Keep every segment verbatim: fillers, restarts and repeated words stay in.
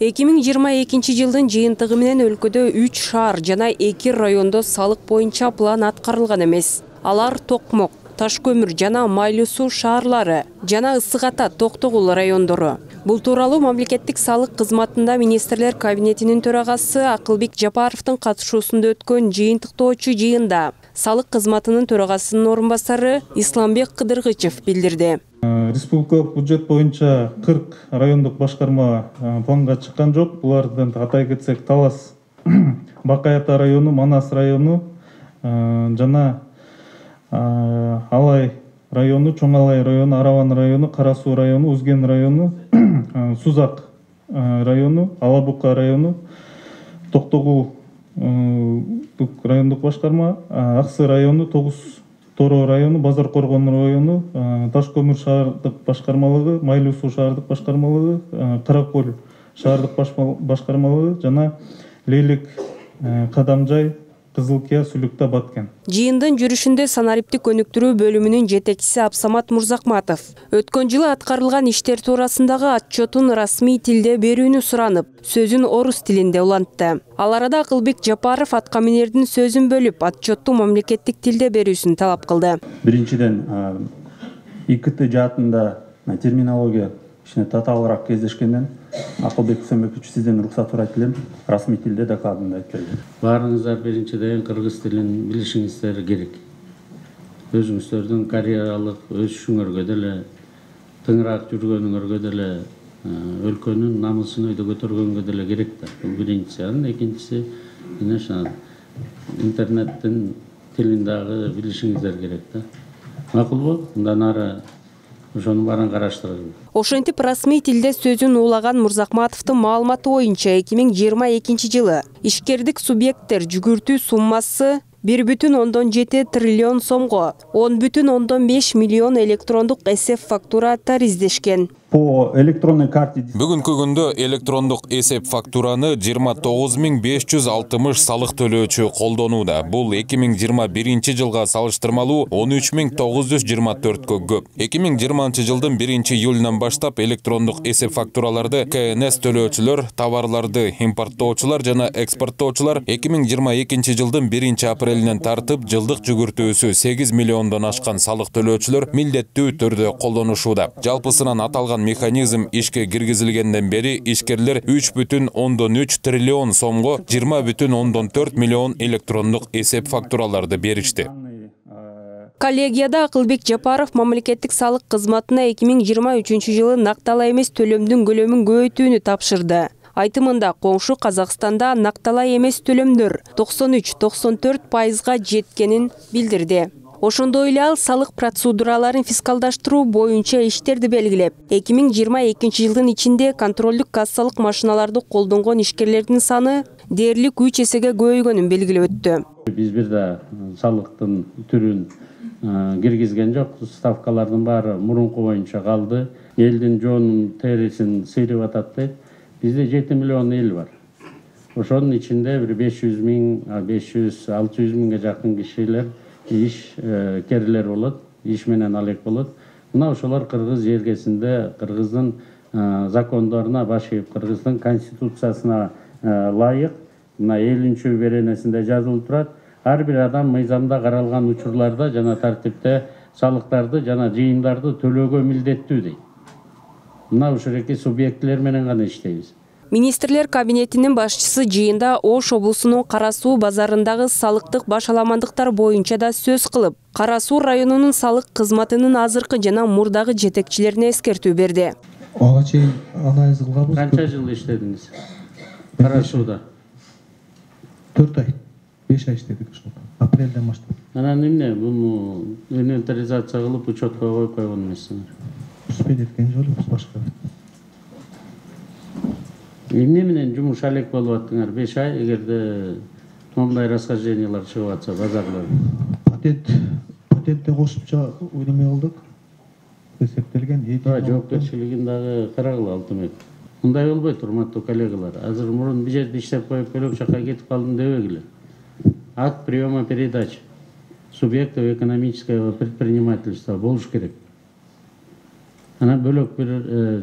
эки миң жыйырма экинчи жылдын жыйынтыгы менен өлкөдө үч шаар жана эки райондо салык боюнча план аткарылган эмес. Алар Токмок, Таш көмүр жана Майлуу суу шаарлары жана Ысык Ата, Токтогул райондору. Бул тууралуу мамлекеттик салык кызматында министрлер кабинетинин төрагасы Акылбек Жапаровдун катышуусунда өткөн жыйынтыктоочу жыйында салык кызматынын төрагасынын орун басары Исламбек Кыдыргычев билдирди. Республикалык бюджет боюнча кырк райондук башкарма планга чыккан жок. Булардан атай кетсек, Талас, Бакай Ата району, Манас району жана Алай району, Чоң Алай району, Араван району, Кара Суу району, Узген району, Сузак району, Алабука району, Токтогул райондук башкарма, Аксы району, Тогуз Торо району, Базар Коргон району, Таш көмүр шаардык башкармалыгы, Майлуу суу шаардык башкармалыгы, Каракөл шаардык башкармалыгы жана Лейлек, Кадамжай, Кызылкия, Сүлүктө баткен. Жыйындын жүрүшүндө санариптик өнүктүрүү бөлүмүнүн жетекчиси Абсамат Мурзакматов өткөн жылы аткарылган иштер туурасындагы отчетун расмий тилде берүүнү суранып, сөзүн орус тилинде улантты. Ал арада Акылбек Жапаров аткаминердин сөзүн бөлүп, отчетту мамлекеттик тилде берүүсүн талап кылды. Биринчиден, ИКТ жаатында терминология ишине татаалыраак кездешкенден Акылбек Үсөнбекович, сизден уруксат сурайт элем, расмий тилде докладымды айтып берди. Баарыңыздар биринчиден кыргыз тилин билишиңиздер керек. Өзүңүздөрдүн карьералык өсүшүңөргө деле, тыңыраак жүргөнүңөргө деле, өлкөнүн намысын өйдө көтөргөнгө деле керек да. Бул биринчиси. Анан экинчиси, мына интернеттин тилин дагы билишиңиздер керек да. Макулбу? Мындан ары ошонун баарын караштыралы. Ошентип расмий тилде сөзүн уулаган Мурзакматовдун маалыматы боюнча эки миң жыйырма экинчи жылы ишкердик субъекттер жүгүртүү суммасы бир бүтүн ондон жети триллион сомго он бүтүн ондон беш миллион электрондук эсеп фактураттар издешкен. По электронной карте Бүгүнкү күндө электрондук эсеп фактураны жыйырма тогуз миң беш жүз алтымыш салык төлөөчү колдонууда. Бул эки миң жыйырма биринчи жылга салыштырмалуу он үч миң тогуз жүз жыйырма төрткө көп. эки миң жыйырманчы жылдын биринчи июлунан баштап электрондук эсеп фактураларды К Н С төлөөчүлөр, товарларды импорттоочулар жана экспорттоочулар эки миң жыйырма экинчи жылдын биринчи апрелинен тартып жылдык жүгүртүүсү сегиз миллиондон ашкан салык төлөөчүлөр милдеттүү түрдө колдонушууда. Жалпысынан аталган механизм ишке киргизилгенден бери ишкерлер үч бүтүн ондон үч триллион сомго жыйырма бүтүн ондон төрт миллион электрондук эсеп фактураларды беришти. Коллегияда Акылбек Жапаров мамлекеттик салык кызматына эки миң жыйырма үчүнчү жылы накталай эмес төлөмдүн көлөмүн көбөйтүүнү тапшырды. Айтымында коңшу Казакстанда накталай эмес төлөмдөр токсон үч токсон төрт пайызга жеткенин билдирди. Ошондой эле ал салык процедураларын фискалдаштыруу боюнча иштерди белгилеп, эки миң жыйырма экинчи жылдын ичинде контролдук кассалык машиналарды колдонгон ишкерлердин саны дээрлик үч эсеге көбөйгөнүн белгилеп өттү. Биз бир да салыктын түрүн киргизген жок, ставкалардын баары мурунку боюнча калды. Элдин жоонун терисин сыйрып атат дейт. Бизде жети миллион эл бар. Ошонун ичинде бир беш жүз миң, беш жүз алты жүз миңге жакын кишилер иш керилер болот, иш менен алек болот. Мына ошолор кыргыз жергесинде кыргыздын закондоруна баш ийип, кыргыздын конституциясына ылайык мына элүүнчү беренесинде жазылып турат. Ар бир адам мыйзамда каралган учурларда жана тартипте салыктарды жана жыйымдарды төлөөгө милдеттүү дейт. Мына ушуреки субъектлер менен гана иштейбиз. Министрлер кабинетинин башчысы жыйында Ош облусунун Кара Суу базарындагы салыктык башаламандыктар боюнча да сөз кылып, Кара Суу районунун салык кызматынын азыркы жана мурдагы жетекчилерине эскертүү берди. Ага чейин анализ кылганбыз. Канча жыл иштедиңиз? Кара Сууда? төрт ай, беш ай иштедик ошол. Апрелден баштап. Анан эмне буну инвентаризация кылып учетко коюп койгон эмессиңер? Успеть эткен жолубуз башка. Эмне менен жумуш алек болуп аттыңар? беш ай эгерде моундай расхождениялар чыгып атса базарлар. Патент, патентте кошумча неме кылдык. Эсептелген. Жоопкерчилигин дагы карагыла алтымек. Мындай болбойт, урматтуу коллегалар. Азыр мурун бир жерде иштеп коюп бөлөк жака кетип калдым дебегиле. Акт приема передач субъектов экономического предпринимательства болуш керек. Анан бөлөк бир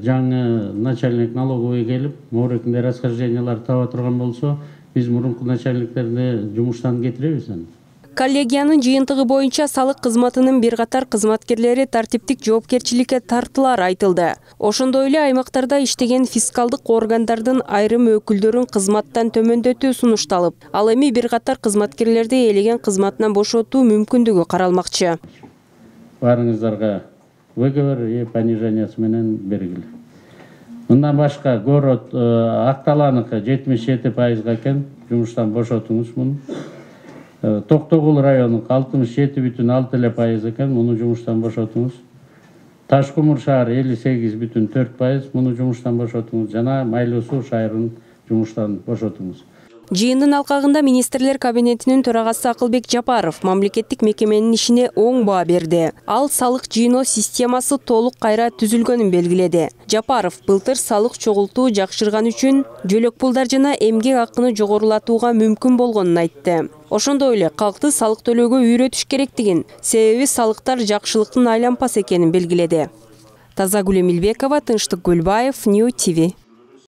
жаңы начальник налоговый келип, моорекинде расхождениялар таба турган болсо, биз мурунку начальниктерди жумуштан кетиребиз аны. Коллегиянын жыйынтыгы боюнча салык кызматынын бир катар кызматкерлери тартиптик жоопкерчиликке тартылары айтылды. Ошондой эле аймактарда иштеген фискалдык органдардын айрым өкүлдөрүн кызматтан төмөндөтүү сунушталып, ал эми бир катар кызматкерлерди элеген кызматынан бошотуу мүмкүндүгү каралмакчы. Баарыңыздарга выговор понижениясы менен бергиле. Мындан башка город Акталаныкы жетимиш жети пайызга экен, жумуштан бошотуңуз муну. Токтогул району алтымыш жети бүтүн алты эле пайыз экен, муну жумуштан бошотуңуз. Таш Кумур шаар элүү сегиз бүтүн төрт пайыз, муну жумуштан бошотуңуз. Жана Майлуу Суу шаарын жумуштан бошотуңуз. Жыйындын алкагында министрлер кабинетинин төрагасы Акылбек Жапаров мамлекеттик мекеменин ишине оң баа берди. Ал салык жыйноо системасы толук кайра түзүлгөнүн белгиледи. Жапаров былтыр салык чогултуу жакшырган үчүн жөлөк пулдар жана эмгек акыны жогорулатууга мүмкүн болгонун айтты. Ошондой эле калкты салык төлөөгө үйрөтүш керектигин, себеби салыктар жакшылыктын айлампасы экенин белгиледи. Тазагүл Эмилбекова, Тынчтык Гөлбаев, Нью ти ви.